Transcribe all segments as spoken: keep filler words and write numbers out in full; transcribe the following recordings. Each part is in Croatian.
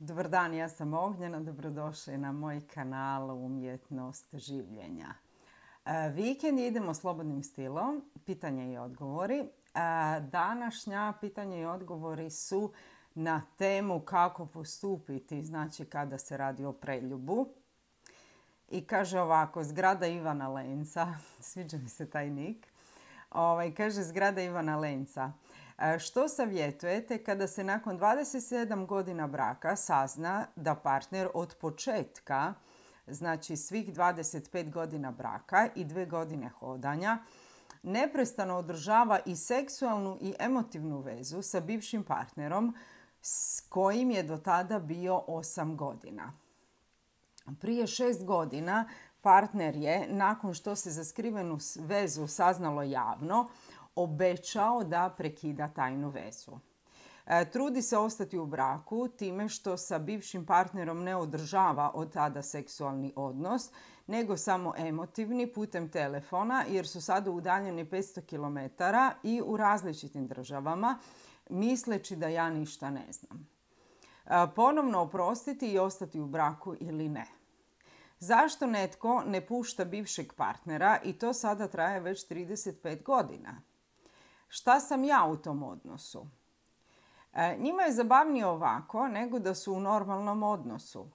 Dobar dan, ja sam Ognjena, dobrodošli na moj kanal Umjetnost življenja. E, vikend idemo slobodnim stilom, pitanja i odgovori. E, današnja pitanja i odgovori su na temu kako postupiti, znači kada se radi o preljubu. I kaže ovako, zgrada Ivana Lenca, sviđa mi se taj nik, ovaj, kaže zgrada Ivana Lenca. Što savjetujete kada se nakon dvadeset sedam godina braka sazna da partner od početka, znači svih dvadeset pet godina braka i dve godine hodanja, neprestano održava i seksualnu i emotivnu vezu sa bivšim partnerom s kojim je do tada bio osam godina. Prije šest godina partner je, nakon što se za skrivenu vezu saznalo javno, obećao da prekida tajnu vezu. E, trudi se ostati u braku time što sa bivšim partnerom ne održava od tada seksualni odnos, nego samo emotivni putem telefona jer su sada udaljeni petsto kilometara i u različitim državama, misleći da ja ništa ne znam. E, ponovno oprostiti i ostati u braku ili ne. Zašto netko ne pušta bivšeg partnera i to sada traje već trideset pet godina? Šta sam ja u tom odnosu? E, njima je zabavnije ovako nego da su u normalnom odnosu.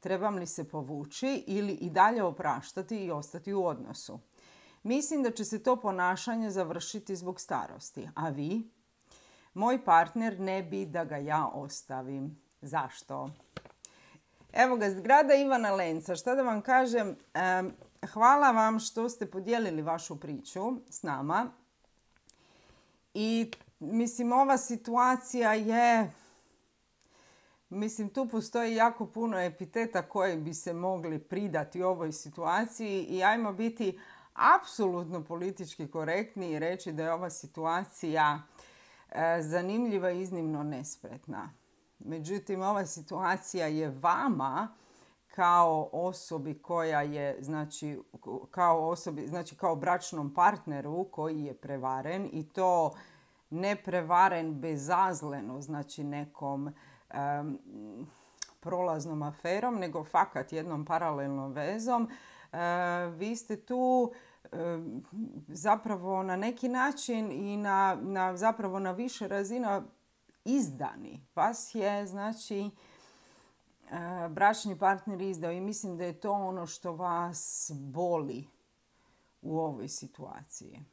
Trebam li se povući ili i dalje opraštati i ostati u odnosu? Mislim da će se to ponašanje završiti zbog starosti. A vi? Moj partner ne bi da ga ja ostavim. Zašto? Evo ga, zgrada Ivana Lenca. Šta da vam kažem? E, hvala vam što ste podijelili vašu priču s nama. I mislim, ova situacija je, mislim, tu postoji jako puno epiteta koje bi se mogli pridati ovoj situaciji i ajmo biti apsolutno politički korektni i reći da je ova situacija e, zanimljiva i iznimno nespretna. Međutim, ova situacija je vama kao osobi koja je, znači, kao osobi, znači kao bračnom partneru koji je prevaren i to ne prevaren bezazleno, znači nekom um, prolaznom aferom, nego fakat jednom paralelnom vezom. Uh, vi ste tu um, zapravo na neki način i na, na, zapravo na više razina izdani. Vas je, znači, bračni partner izdao i mislim da je to ono što vas boli u ovoj situaciji.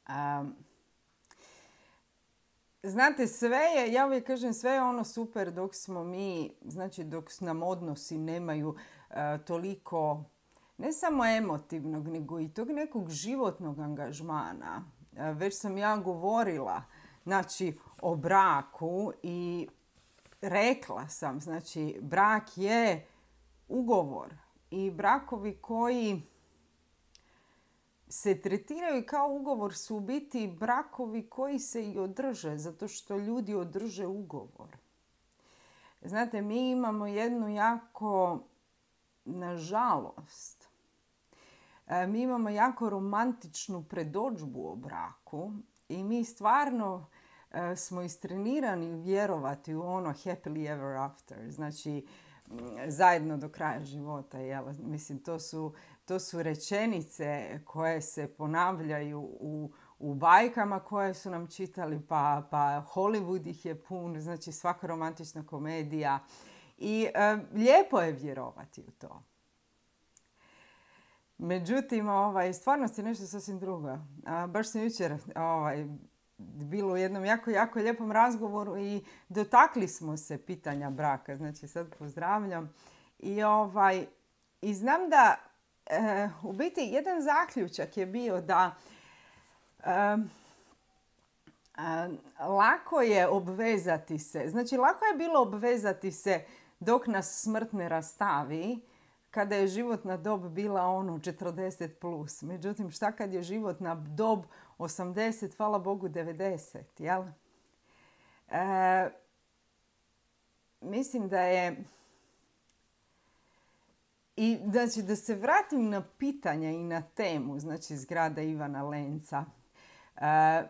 Um, znate, sve je, ja uvijek kažem, sve je ono super dok smo mi, znači dok nam odnosi nemaju uh, toliko, ne samo emotivnog, nego i tog nekog životnog angažmana. Uh, već sam ja govorila, znači, o braku i rekla sam, znači, brak je ugovor i brakovi koji se tretiraju kao ugovor su u biti brakovi koji se i održe, zato što ljudi održe ugovor. Znate, mi imamo jednu jako, nažalost, mi imamo jako romantičnu predodžbu o braku i mi stvarno smo istrenirani vjerovati u ono happily ever after, znači zajedno do kraja života. Jel? Mislim, to su, to su rečenice koje se ponavljaju u, u bajkama koje su nam čitali, pa, pa Hollywood ih je pun, znači svaka romantična komedija i e, lijepo je vjerovati u to. Međutim, ovaj, stvarnost je nešto sasvim drugo. A, baš sam jučer ovaj, bilo u jednom jako, jako lijepom razgovoru i dotakli smo se pitanja braka. Znači, sad pozdravljam. I, ovaj, i znam da e, u biti jedan zaključak je bio da e, e, lako je obvezati se. Znači, lako je bilo obvezati se dok nas smrt ne rastavi, kada je životna dob bila ono četrdeset plus. Međutim, šta kad je životna dob osamdeset, hvala Bogu devedeset, jel? E, mislim da je... I znači, da se vratim na pitanja i na temu, znači zgrada Ivana Lenca. E,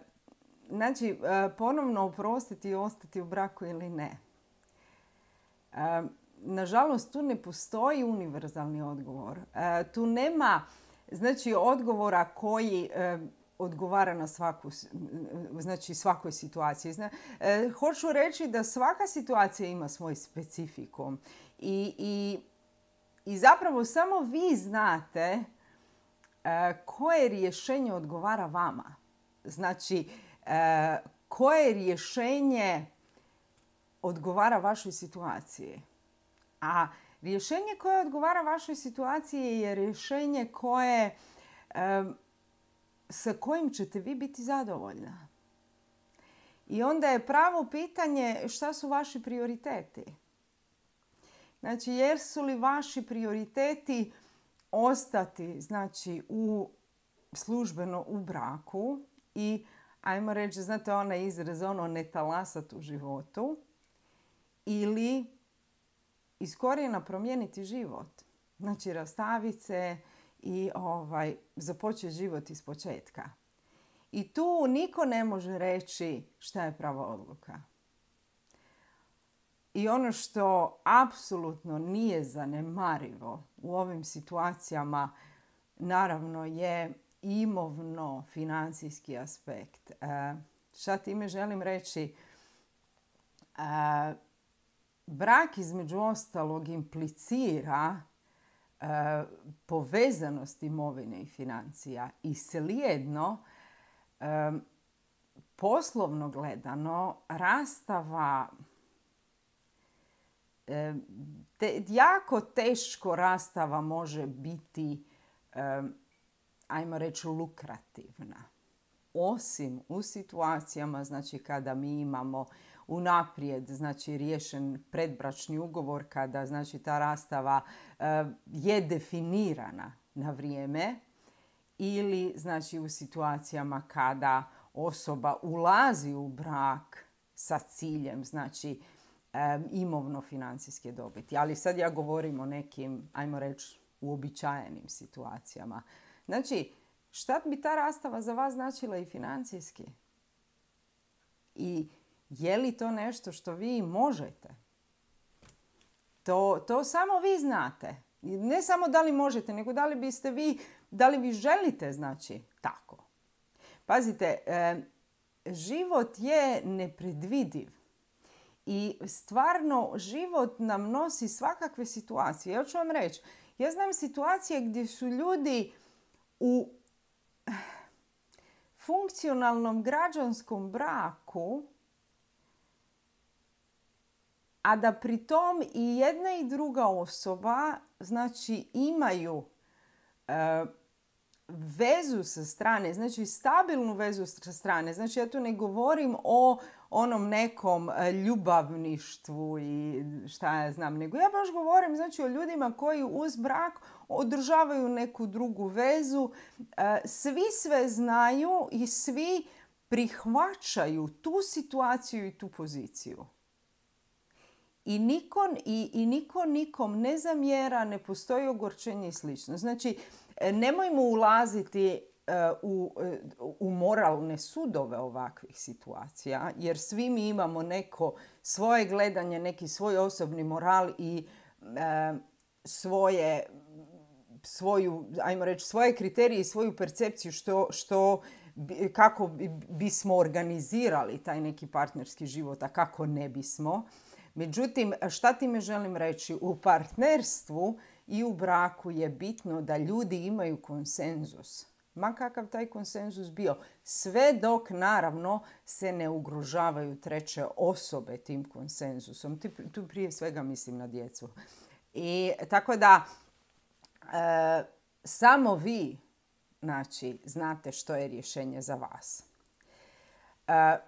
znači, ponovno oprostiti i ostati u braku ili ne. Nažalost, tu ne postoji univerzalni odgovor. Tu nema, znači, odgovora koji odgovara na svaku, znači, svakoj situaciji. Zna, hoću reći da svaka situacija ima svoj specifikum. I, i, i zapravo samo vi znate koje rješenje odgovara vama. Znači, koje rješenje odgovara vašoj situaciji. A rješenje koje odgovara vašoj situaciji je rješenje koje, sa kojim ćete vi biti zadovoljna. I onda je pravo pitanje šta su vaši prioriteti. Znači, jesu li vaši prioriteti ostati, znači, u službeno u braku i, ajmo reći, znate onaj izraz, ono, ne talasat u životu, ili iz korijena promijeniti život. Znači, rastaviti se i ovaj, započeti život iz početka. I tu niko ne može reći šta je prava odluka. I ono što apsolutno nije zanemarivo u ovim situacijama, naravno, je imovno-financijski aspekt. E, šta time želim reći? E, brak, između ostalog, implicira e, povezanost imovine i financija. I slijedno, e, poslovno gledano, rastava Te, jako teško rastava može biti, um, ajmo reći, lukrativna. Osim u situacijama, znači, kada mi imamo unaprijed, znači, riješen predbračni ugovor, kada, znači, ta rastava uh, je definirana na vrijeme, ili, znači, u situacijama kada osoba ulazi u brak sa ciljem, znači, Um, imovno-financijske dobiti. Ali sad ja govorim o nekim, ajmo reći, uobičajenim situacijama. Znači, šta bi ta rastava za vas značila i financijski? I je li to nešto što vi možete? To, to samo vi znate. Ne samo da li možete, nego da li biste vi, da li vi želite, znači, tako. Pazite, um, život je nepredvidiv. I stvarno život nam nosi svakakve situacije. Ja ću vam reći, ja znam situacije gdje su ljudi u funkcionalnom građanskom braku, a da pri tom i jedna i druga osoba, znači, imaju e, vezu sa strane, znači stabilnu vezu sa strane. Znači, ja tu ne govorim o onom nekom ljubavništvu i šta ja znam, nego ja baš govorim, znači, o ljudima koji uz brak održavaju neku drugu vezu. Svi sve znaju i svi prihvaćaju tu situaciju i tu poziciju. I niko, i, i niko nikom ne zamjera, ne postoji ogorčenje i slično. Znači, nemojmo ulaziti u, u moralne sudove ovakvih situacija, jer svi mi imamo neko svoje gledanje, neki svoj osobni moral i e, svoje, svoju, ajmo reći, svoje kriterije i svoju percepciju što, što, kako bismo organizirali taj neki partnerski život, a kako ne bismo. Međutim, šta time želim reći? U partnerstvu i u braku je bitno da ljudi imaju konsenzus. Ma kakav taj konsenzus bio. Sve dok, naravno, se ne ugrožavaju treće osobe tim konsenzusom. Tu prije svega mislim na djecu. I tako da, e, samo vi, znači, znate što je rješenje za vas. E,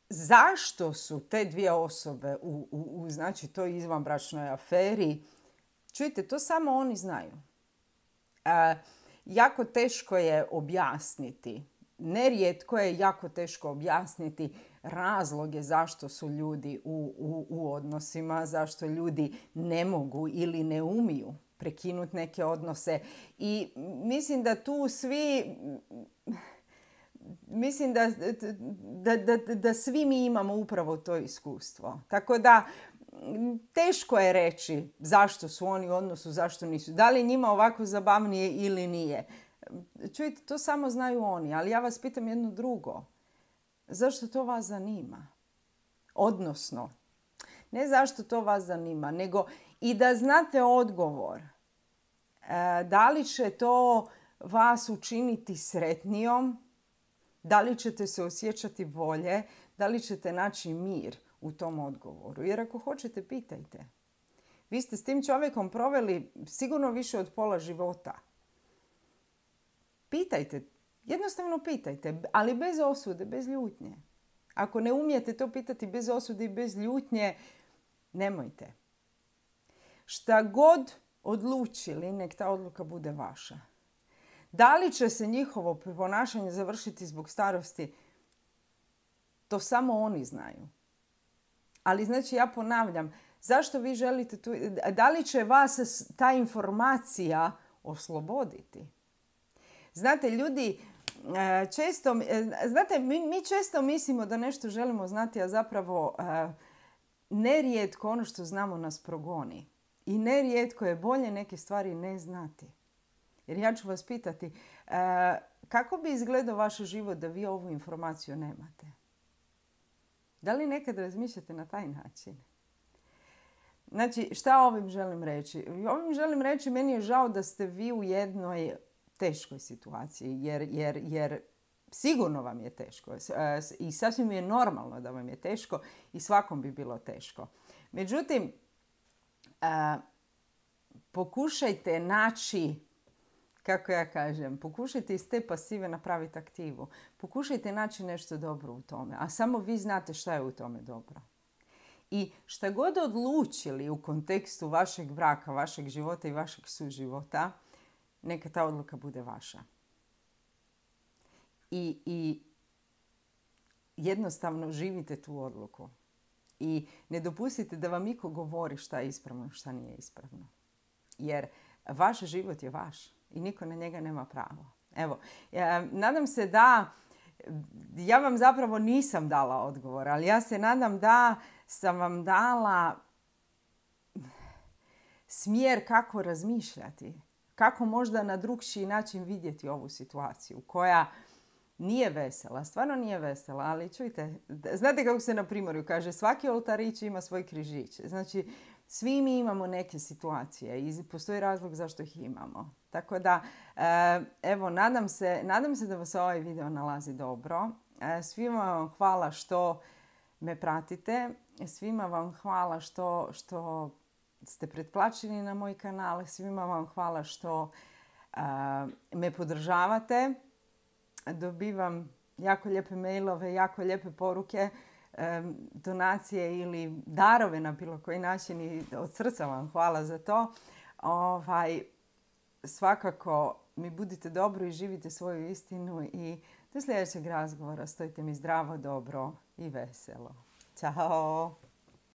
Zašto su te dvije osobe u, u, u znači, toj izvanbračnoj aferi? Čujte, to samo oni znaju. E, jako teško je objasniti. Nerijetko je jako teško objasniti razloge zašto su ljudi u, u, u odnosima, zašto ljudi ne mogu ili ne umiju prekinuti neke odnose. I mislim da tu svi... mislim da, da, da, da svi mi imamo upravo to iskustvo. Tako da teško je reći zašto su oni u odnosu, zašto nisu. Da li je njima ovako zabavnije ili nije. Čujte, to samo znaju oni, ali ja vas pitam jedno drugo. Zašto to vas zanima? Odnosno, ne zašto to vas zanima, nego i da znate odgovor. E, da li će to vas učiniti sretnijom? Da li ćete se osjećati bolje? Da li ćete naći mir u tom odgovoru? Jer ako hoćete, pitajte. Vi ste s tim čovjekom proveli sigurno više od pola života. Pitajte. Jednostavno pitajte, ali bez osude, bez ljutnje. Ako ne umijete to pitati bez osude i bez ljutnje, nemojte. Šta god odlučili, nek ta odluka bude vaša. Da li će se njihovo ponašanje završiti zbog starosti, to samo oni znaju. Ali znači, ja ponavljam, zašto vi želite tu, da li će vas ta informacija osloboditi? Znate, ljudi često, znate, mi, mi često mislimo da nešto želimo znati, a zapravo nerijetko ono što znamo nas progoni. I nerijetko je bolje neke stvari ne znati. Jer ja ću vas pitati, kako bi izgledao vaš život da vi ovu informaciju nemate? Da li nekad razmišljate na taj način? Znači, šta ovim želim reći? Ovim želim reći, meni je žao da ste vi u jednoj teškoj situaciji, jer, jer, jer sigurno vam je teško i sasvim je normalno da vam je teško i svakom bi bilo teško. Međutim, a, pokušajte naći, kako ja kažem, pokušajte iz te pasive napraviti aktivu. Pokušajte naći nešto dobro u tome, a samo vi znate šta je u tome dobro. I šta god odlučili u kontekstu vašeg braka, vašeg života i vašeg suživota, neka ta odluka bude vaša. I, i jednostavno živite tu odluku. I ne dopustite da vam niko govori šta je ispravno, šta nije ispravno. Jer vaš život je vaš i niko na njega nema pravo. Evo, ja, nadam se da, ja vam zapravo nisam dala odgovor, ali ja se nadam da sam vam dala smjer kako razmišljati. Kako možda na drugčiji način vidjeti ovu situaciju koja nije vesela, stvarno nije vesela, ali čujte, znate kako se na Primorju kaže, svaki oltarić ima svoj križić. Znači, svi mi imamo neke situacije i postoji razlog zašto ih imamo. Tako da, evo, nadam se, nadam se da vas ovaj video nalazi dobro. Svima vam hvala što me pratite. Svima vam hvala što, što ste pretplaćeni na moj kanal. Svima vam hvala što uh, me podržavate. Dobivam jako lijepe mailove, jako lijepe poruke, um, donacije ili darove na bilo koji način i od srca vam hvala za to. Ovaj, svakako mi budite dobro i živite svoju istinu i do sljedećeg razgovora stojite mi zdravo, dobro i veselo. Ćao!